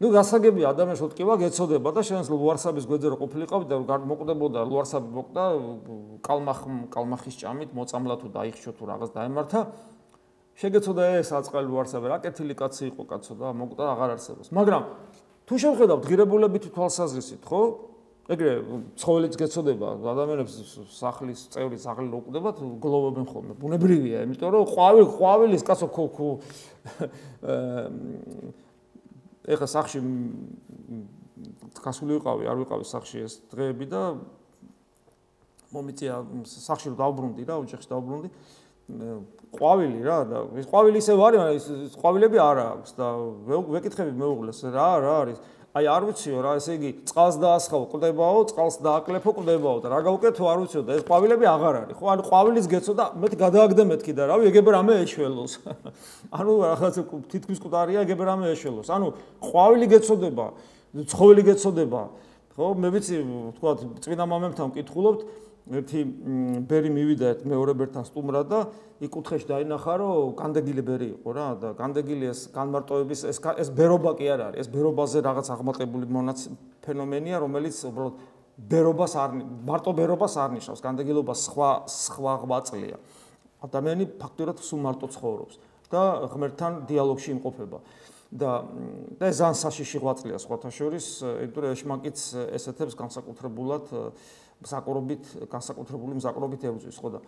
A: გასაგებია ადამიანს ოტკივა გეცოდება და შენს ლუარსაბის გვერდზე რო ყოფილიყავი და მოკვდებოდა ლუარსაბი მოკვდა კალმახის ჭამით, მოწამლა თუ დაიხშო თუ რაღაც დაემართა. შეგეცოდა ეს აწყალი ლუარსაბი, რა კეთილი კაცი იყო კაცო და მოკვდა აღარ არსებობს. მაგრამ თუ შევხედავთ ღირებულებითი თვალსაზრისით, ხო? ეგრე ცხოველიც გეცოდება, ადამიანებს სახლის წევრი სახლი რო უკვდებათ, გლოვობენ ხოლმე. ბუნებრივია, იმიტომ რომ ყვავილის კაცო ეხა სახში გასული ვიყავი, არ ვიყავი სახში ეს დღეები და მომიწია სახში რომ დავბრუნდი რა, ოჯახში დავბრუნდი. ყვავილი რა და ეს ყვავილი ისევ არის, მაგრამ ეს ყვავილები არ აქვს და ვეკითხები მეუღლეს რა არის. აი არ ვიციო რა, ესე იგი წყალს დაასხავ, კვდებაო, წყალს დააკლეფო, კვდებაო და რა გავუკეთო არ ვიციო და ეს ყვავილები აღარ არის. ხო, ანუ ყვავილის გეცოდა, მეთქი გადააგდე მეთქი და რავი, ეგებ რამე ეშველოს. ანუ რაღაცა თითქმის მკვდარია, ეგებ რამე ეშველოს. ანუ ყვავილი გეცოდება, ცხოველი გეცოდება. ხო, მე ვიცი, თქვა, წმინდა მამებთან ვკითხულობთ, ერთი ბერი მივიდა მეორე ბერთან სტუმრად და იქ კუთხეში დაინახა, რომ განდეგილი ბერი იყო რა და განდეგილი ეს განმარტოების ეს ბერობა კი არ არის, ეს ბერობაზე რაღაც აღმატებული ფენომენია, რომელიც უბრალოდ ბერობას მარტო ბერობას არ ნიშნავს, განდეგილობა სხვა ღვაწლია. ადამიანი ფაქტურად სულ მარტო ცხოვრობს და ღმერთთან დიალოგში იმყოფება. და ეს ძალიან საშიში ღვაწლია სხვათა შორის, იმიტომ რომ ეშმაკიც ესეთებს განსაკუთრებული მზაკრობით ებრძვის, ხო და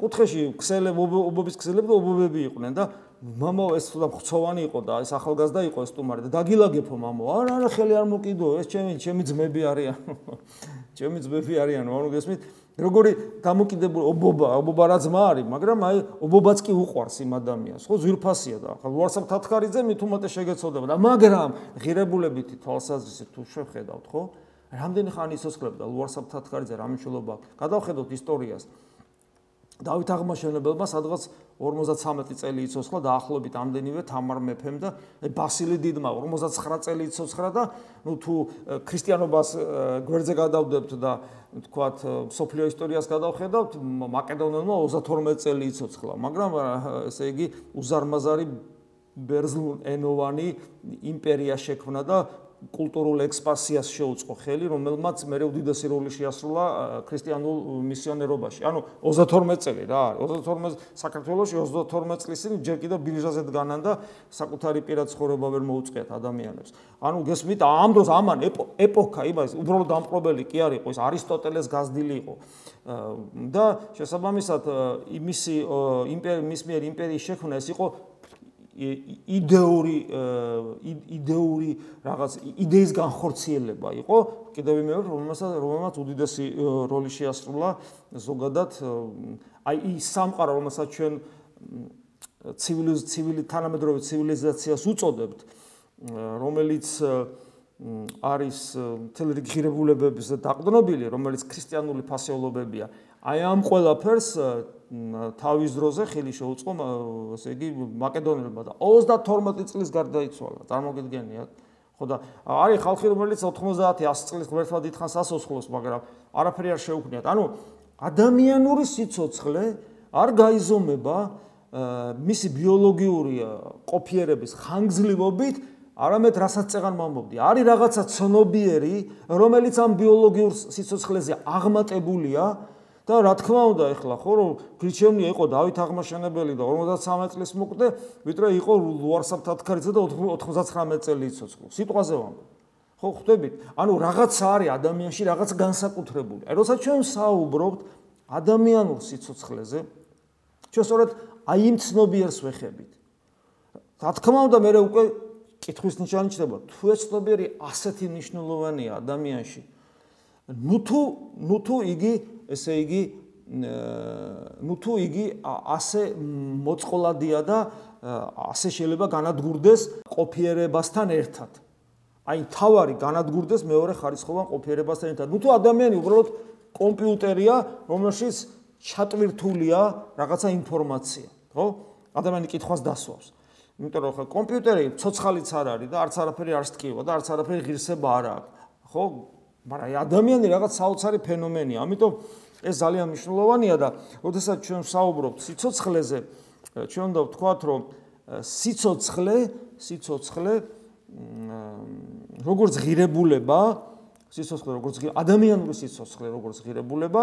A: კუთხეში ობობის ქსელები და ობობები იყვნენ და მამა ეს თუ ხცოვანი იყო და ეს ახალგაზრდა იყო ეს სტუმარი და დაგილაგებო მამა არა ხელი არ მოკიდო ეს ჩემი ძმები არიან ჩემი ძმები არიან ანუ გესმით როგორი დამოკიდებული ობობა რა ძმა არის მაგრამ აი ობობაც კი უყვარს იმ ადამიანს ხო ზვირფასია და ახლა ლუარსაბ თათქარიძე მით უმეტეს შეგეცოდება და მაგრამ ღირებულებითი თვალსაზრისით თუ შევხედავთ ხო რამდენი ხანი იცოცხლებდა ლუარსაბ თათქარიძე რა მნიშვნელობა აქვს გადავხედოთ ისტორიას დავით აღმაშენებელმა სადღაც 53 წელი იცოცხლა დაახლოებით ამდენივე თამარ მეფემ და ბასილი დიდმა 59 წელი იცოცხლა და ნუ თუ ქრისტიანობას გვერდზე გადავდებთ და თქვათ სოფლიო ისტორიას გადავხედავთ მაკედონელმა 32 წელი იცოცხლა მაგრამ ესე იგი უზარმაზარი ბერძნულენოვანი იმპერია შექმნა და კულტურულ ექსპანსიას შეუწყო ხელი, რომელმაც მერე უდიდესი როლი შეასრულა ქრისტიანულ მისიონერობაში. ანუ 32 წელი რა არის. 32 საქართველოში 32 წლის წინ ჯერ კიდევ ბირჟაზე დგანან და საკუთარი პირად ცხოვრება ვერ მოუწყიათ ადამიანებს. ანუ გესმით, ამ დროს ამან ეპოქა, იმას უბრალოდ დამპყრობელი კი არ იყო, ის არისტოტელეს გაზრდილი იყო. და შესაბამისად მისი მის მიერ იმპერიის შექმნა ეს იყო იდეური რაღაც იდეის განხორციელება იყო კიდევ მეორე რომელმაც უდიდესი როლი შეასრულა ზოგადად აი ის სამყარო რომელსაც ჩვენ თანამედროვე ცივილიზაციას უწოდებთ რომელიც არის მთელი რიგი ღირებულებების დაყრდნობილი რომელიც ქრისტიანული ფასეულობებია აი ამ ყველაფერს თავის დროზე ხელი შეუწყო ესე იგი მაკედონელებმა და 32 წლის გარდაიცვალა წარმოგიდგენიათ ხო და არის ხალხი რომელიც 90-100 წლის ღმერთმა დიდხანს ასოცხლოს მაგრამ არაფერი არ შეუქმნიათ ანუ ადამიანური სიცოცხლე არ გაიზომება მისი ბიოლოგიური ყოფიერების ხანგრძლივობით არამედ რასაც წეღან მომობდი არის რაღაცა ცნობიერი რომელიც ამ ბიოლოგიურ სიცოცხლეზე აღმატებულია და რა თქმა უნდა ეხლა ხო რომ გრიჩევნია იყო დავით აღმაშენებელი და 53 წლის მოკვდე ვიდრე იყო ლუარსაბ თათქარიძე და 99 წელი იცოცხლო სიტყვაზე ვამბობ ხო ხვდებით ანუ რაღაცა არის ადამიანში რაღაც განსაკუთრებული აი როცა ჩვენ საუბრობთ ადამიანურ სიცოცხლეზე ჩვენ სწორედ აი იმ ცნობიერს ვეხებით რა თქმა უნდა მე უკვე კითხვის ნიშანი ჩნდება თუ ეს ცნობიერი ასეთი მნიშვნელოვანია ადამიანში ნუ თუ იგი ესე იგი ნუ თუ იგი ასე მოწყოლადია და ასე შეიძლება განადგურდეს ყოფიერებასთან ერთად. აი თავარი განადგურდეს მეორე ხარისხოვან ყოფიერებასთან ერთად. ნუ თუ ადამიანი უბრალოდ კომპიუტერია, რომელშიც ჩატვირთულია რაღაცა ინფორმაცია, ხო? ადამიანი კითხვას დასვავს. იმიტომ რომ ხა კომპიუტერი ცოცხალიც არ არის და არც არაფერი არ სტკივა და არც არაფერი ღირსება არ აქვს, ხო? მაგრამ აი ადამიანი რაღაც საოცარი ფენომენია. ამიტომ ეს ძალიან მნიშვნელოვანია და როდესაც ჩვენ საუბრობთ სიცოცხლეზე, ჩვენ უნდა ვთქვათ, რომ სიცოცხლე როგორც ღირებულება, ადამიანური სიცოცხლე როგორც ღირებულება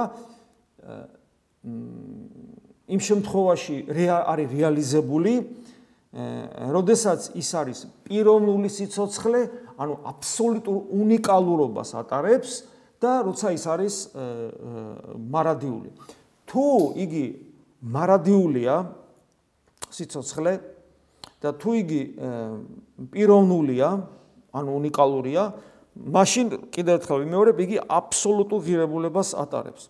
A: იმ შემთხვევაში არის რეალიზებული როდესაც ის არის პიროვნული სიცოცხლე, ანუ აბსოლუტურ უნიკალურობას ატარებს და როცა ის არის მარადიული. თუ იგი მარადიულია სიცოცხლე და თუ იგი პიროვნულია, ანუ უნიკალურია, მაშინ კიდევ ერთხელ ვიმეორებ, იგი აბსოლუტურ ღირებულებას ატარებს.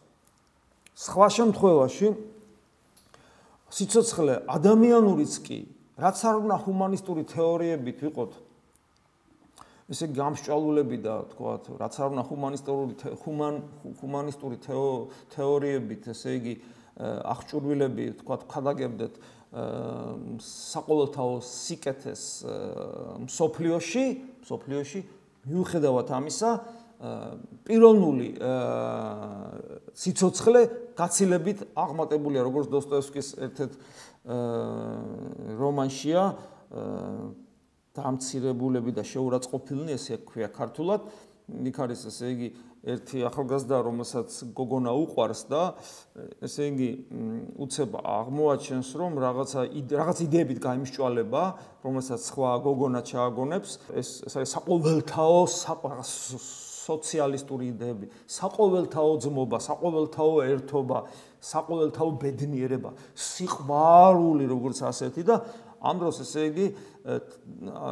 A: სხვა შემთხვევაში სიცოცხლე ადამიანურიც კი რაც არ უნდა ჰუმანისტური თეორიებით ვიყოთ ესე გამსჭვალულები და თქვათ რაც არ უნდა ჰუმანისტური თეორიებით ესე იგი აღჭურვილები თქვათ ხადაგებდეთ საყოველთაო სიკეთეს მსოფლიოში მიუხედავად ამისა პიროვნული სიცოცხლე გაცილებით აღმატებულია როგორც დოსტოევსკის ერთ-ერთ რომანშია დამცირებულები და შეურაცხყოფილნი ესე ქვია ქართულად იქ არის ესე იგი ერთი ახალგაზრდა რომელსაც გოგონა უყვარს და ესე იგი უცებ აღმოაჩენს რომ რაღაცა იდეებით გაიმსჭვალება რომელსაც სხვა გოგონა ჩააგონებს ეს არის საყოველთაო სოციალისტური იდეები საყოველთაო ძმობა საყოველთაო ერთობა საყოველთაო ბედნიერება, სიყვარული როგორც ასეთი და ამ დროს ესე იგი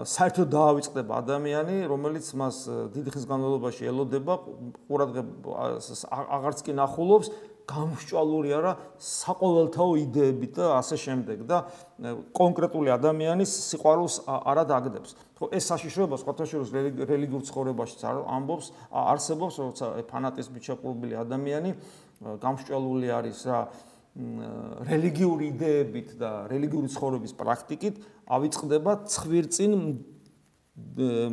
A: საერთოდ დაავიწყდება ადამიანი, რომელიც მას დიდი ხნის განმავლობაში ელოდება, ყურადღებას აღარც კი ნახულობს, გამსჭვალული არა საყოველთაო იდეებით და ასე შემდეგ და კონკრეტული ადამიანის სიყვარულს არ დაგდებს. ხო, ეს საშიშროება სხვათა შორის რელიგიურ ცხოვრებაშიც ამბობს, არსებობს, როცა ფანატიზმით შეყრდნობილი ადამიანი გამსჭვალული არის რა რელიგიური იდეებით და რელიგიური ცხოვრების პრაქტიკით, ავიწყდება ცხვირწინ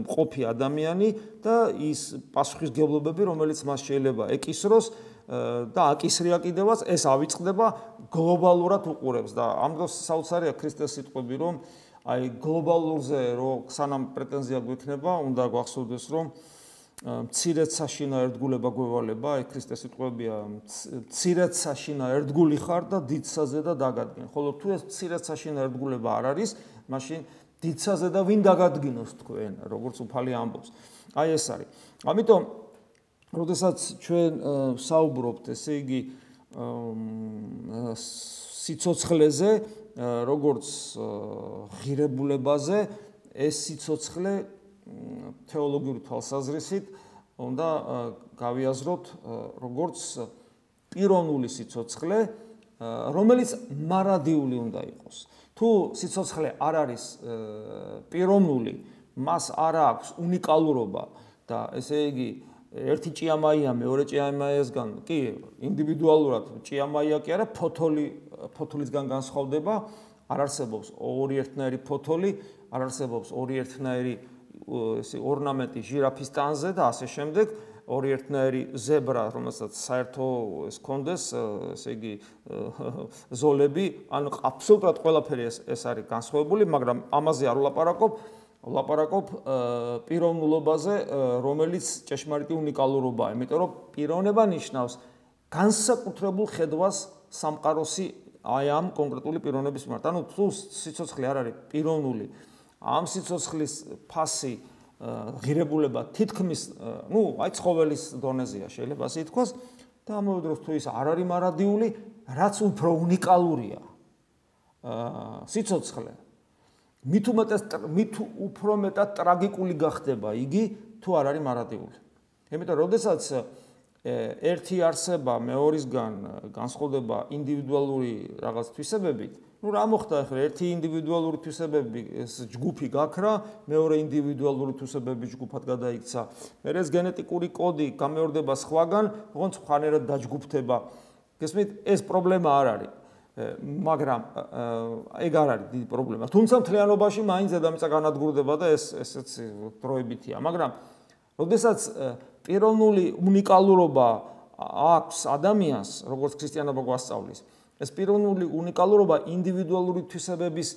A: მყოფი ადამიანი და ის პასუხისმგებლობები, რომელიც მას შეიძლება ეკისროს და აკისრია კიდევაც, ეს ავიწყდება გლობალურად უყურებს და ამ დროს საოცარია ქრისტეს სიტყვები, რომ აი გლობალურზე რო სანამ პრეტენზია გვექნება, უნდა გვახსოვდეს, რომ მცირედ საშინა ერთგულება გვევალება, აი ქრისტეს სიტყვებია, მცირედ საშინა ერთგული ხარ და დიდსაზე და დაგადგენ. ხოლო თუ ეს მცირედ საშინა ერთგულება არ არის, მაშინ დიდსაზე და ვინ დაგადგინოს თქვენ, როგორც უფალი ამბობს. აი ეს არის. ამიტომ როდესაც ჩვენ საუბრობთ, ესე იგი სიცოცხლეზე, როგორც ღირებულებაზე, ეს სიცოცხლე თეოლოგიური თვალსაზრისით უნდა გავიაზროთ როგორც პიროვნული სიცოცხლე, რომელიც მარადიული უნდა იყოს. თუ სიცოცხლე არ არის პიროვნული, მას არ აქვს უნიკალურობა და ესე იგი ერთი ჭიამაია მეორე ჭიამაიასგან კი ინდივიდუალურად ჭიამაია კი არა ფოთოლისგან განსხვავდება, არ არსებობს ორი ერთნაირი ფოთოლი, არ არსებობს ორი ერთნაირი ორნამენტი ჟირაფის ტანზე და ასე შემდეგ, ორი ერთნაირი ზებრა, რომელსაც საერთო ეს კონდეს, ესე იგი ზოლები, ანუ აბსოლუტურად ყველაფერი ეს არის განსხვავებული, მაგრამ ამაზე არ ვლაპარაკობ პიროვნულობაზე, რომელიც ჭეშმარიტი უნიკალურობაა, იმიტომ რომ პიროვნება ნიშნავს განსაკუთრებულ ხედვას სამყაროსი აი ამ კონკრეტული პიროვნების მიმართ. ანუ თუ სიცოცხლე არ არის პიროვნული, ამ სიცოცხლის ფასი ღირებულება თითქმის, აი ცხოველის დონეზეა, შეიძლება ასე ითქვას, და ამავე დროს თუ ის არ არის მარადიული, რაც უფრო უნიკალურია სიცოცხლე, მით უფრო მეტად ტრაგიკული გახდება იგი, თუ არ არის მარადიული. იმიტომ, როდესაც ერთი არსება მეორისგან განსხვავდება ინდივიდუალური რაღაც თვისებებით, რა მოხდა ახლა ერთი ინდივიდუალური თვისებები ეს ჯგუფი გაქრა, მეორე ინდივიდუალური თვისებების ჯგუფად გადაიქცა. მერე ეს გენეტიკური კოდი გამეორდება სხვაგან, ოღონდ სხვანაირად დაჯგუფდება. გესმით, ეს პრობლემა არ არის. მაგრამ ეგ არ არის დიდი პრობლემა. თუმცა მთლიანობაში მაინც დედამიწა განადგურდება და ესეც დროებითია. მაგრამ როდესაც პიროვნული უნიკალურობა აქვს ადამიანს, როგორც ქრისტიანობა გვასწავლის, ეს პიროვნული უნიკალურობა ინდივიდუალური თვისებების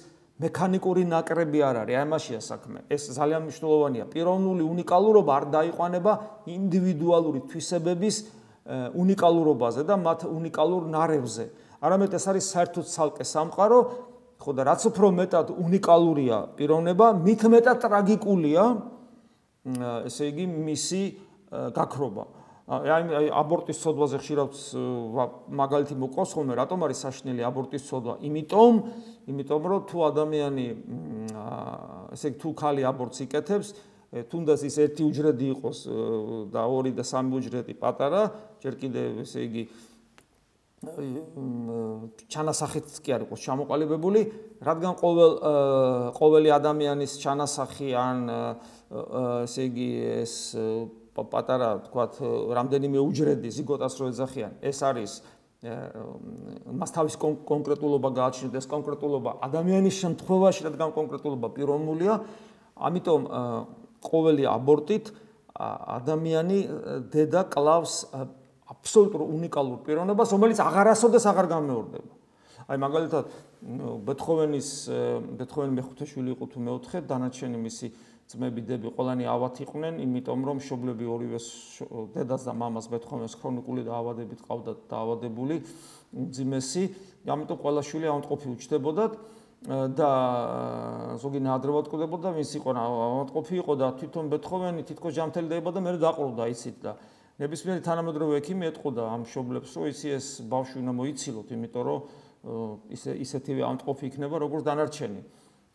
A: მექანიკური ნაკრები არ არის, აი ამაშია საქმე. ეს ძალიან მნიშვნელოვანია. პიროვნული უნიკალურობა არ დაიყვანება ინდივიდუალური თვისებების უნიკალურობაზე და მათ უნიკალურ ნარევზე. არამედ ეს არის საერთოდ ცალკე სამყარო, ხო და რაც უფრო მეტად უნიკალურია პიროვნება, მით მეტად ტრაგიკულია, ესე იგი მისი გაქრობა. აი აბორტის ცოდვაზე ხშირად მაგალითი მოყავს ხოლმე, რატომ არის საშინელი აბორტის ცოდვა? იმიტომ რომ თუ ადამიანი ესე იგი თუ ქალი აბორტს იკეთებს, თუნდაც ის ერთი უჯრედი იყოს და ორი და სამი უჯრედი პატარა, ჯერ კიდევ ესე იგი ჩანასახით კი არ იყოს ჩამოყალიბებული, რადგან ყოველი ადამიანის ჩანასახი ან ესე იგი ეს პატარა, თქვათ, რამდენიმე უჯრედი ზიგოტას რო ეძახიან, ეს არის მას თავის კონკრეტულობა გააჩნია, ეს კონკრეტულობა ადამიანის შემთხვევაში, რადგან კონკრეტულობა პიროვნულია, ამიტომ ყოველი აბორტით ადამიანი დედა კლავს აბსოლუტურ უნიკალურ პიროვნებას, რომელიც აღარასოდეს აღარ გამეორდება. აი მაგალითად ბეთჰოვენი მეხუთე შვილი იყო თუ მეოთხე, დანარჩენი მისი ძმები დები ყველანი ავად იყვნენ, იმიტომ რომ მშობლები ორივე დედას და მამას ბეთჰოვენს ქრონიკული დაავადებით ყავდათ დაავადებული, უმძიმესი, ამიტომ ყველა შვილი ავადმყოფი უჩნდებოდათ და ზოგი ნაადრევად კვდებოდა, ვინც იყო ავადმყოფი იყო და თვითონ ბეთჰოვენი თითქოს ჯანმრთელი დაიბადა, მერე დაყრდნობა იცით და ნებისმიერი თანამედროვე ექიმი ეტყოდა ამ მშობლებს, რომ იცი ეს ბავშვი უნდა მოიცილოთ, იმიტომ რომ ისეთივე ამტყოფი იქნება როგორც დანარჩენი.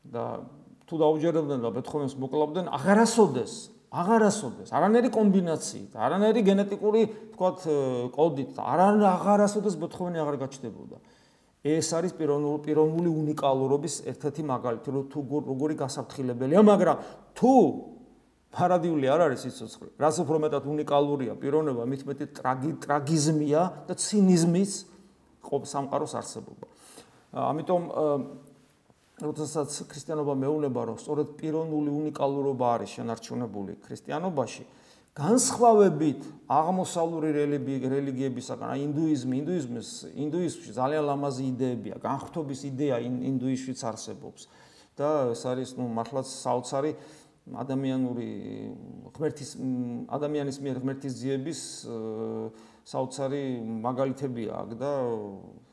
A: და თუ დაუჯერებდნენ და ბეთჰოვენს მოკლავდნენ, აღარასოდეს, არანაირი კომბინაციით, არანაირი გენეტიკური, თქვათ, კოდით, აღარასოდეს ბეთჰოვენი აღარ გაჩნდებოდა. ეს არის პიროვნული უნიკალურობის ერთ-ერთი მაგალითი, რომ თუ როგორი გასაფრთხილებელია, მაგრამ თუ პარადიული არ არის სიცოცხლე, რაც უფრო მეტად უნიკალურია პიროვნება, მით მეტი ტრაგიზმია და ცინიზმის სამყაროს არსებობა. ამიტომ როდესაც ქრისტიანობა მეუბნება, რომ სწორედ პიროვნული უნიკალურობა არის შენარჩუნებული ქრისტიანობაში, განსხვავებით აღმოსავლური რელიგიებისაგან, ინდუიზმში ძალიან ლამაზი იდეებია, განხრთობის იდეა ინდუიზმშიც არსებობს და ეს არის მართლაც საოცარი ადამიანის მიერ ღმერთის ძიების საოცარი მაგალითებია აქ და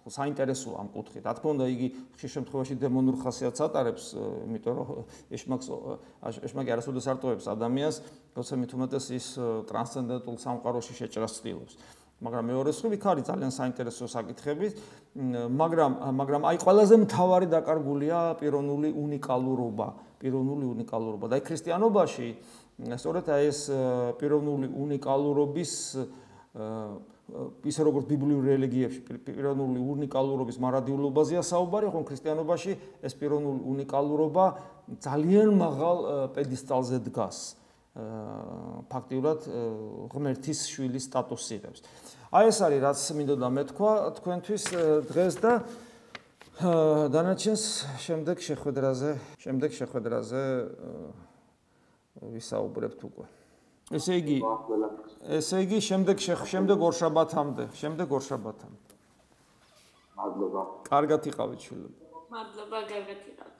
A: საინტერესოა ამ კუთხით. რა თქმა უნდა, იგი ხშირ შემთხვევაში დემონურ ხასიათს ატარებს, იმიტომ რომ ეშმაკი არასოდეს არ ტოვებს ადამიანს, როცა მით უმეტეს ის ტრანსცენდენტულ სამყაროში შეჭრას ცდილობს. მაგრამ მეორე მხრივ იქ არის ძალიან საინტერესო საკითხები, მაგრამ აი ყველაზე მთავარი დაკარგულია პიროვნული უნიკალურობა. და აი ქრისტიანობაში სწორედ აი ეს პიროვნული უნიკალურობის ისე როგორც ბიბლიურ რელიგიებში პიროვნული უნიკალურობის მარადიულობაზეა საუბარი, ხოლო ქრისტიანობაში ეს პიროვნული უნიკალურობა ძალიან მაღალ პედესტალზე დგას. ფაქტიურად ღმერთის შვილის სტატუსს იღებს. აი ეს არის რაც მინდოდა მეთქვა თქვენთვის დღეს და დანარჩენს შემდეგ შეხვედრაზე ვისაუბრებთ უკვე. ესე იგი შემდეგ ორშაბათამდე. მადლობა. კარგად იყავით შვილები.
B: მადლობა, კარგად იყავით.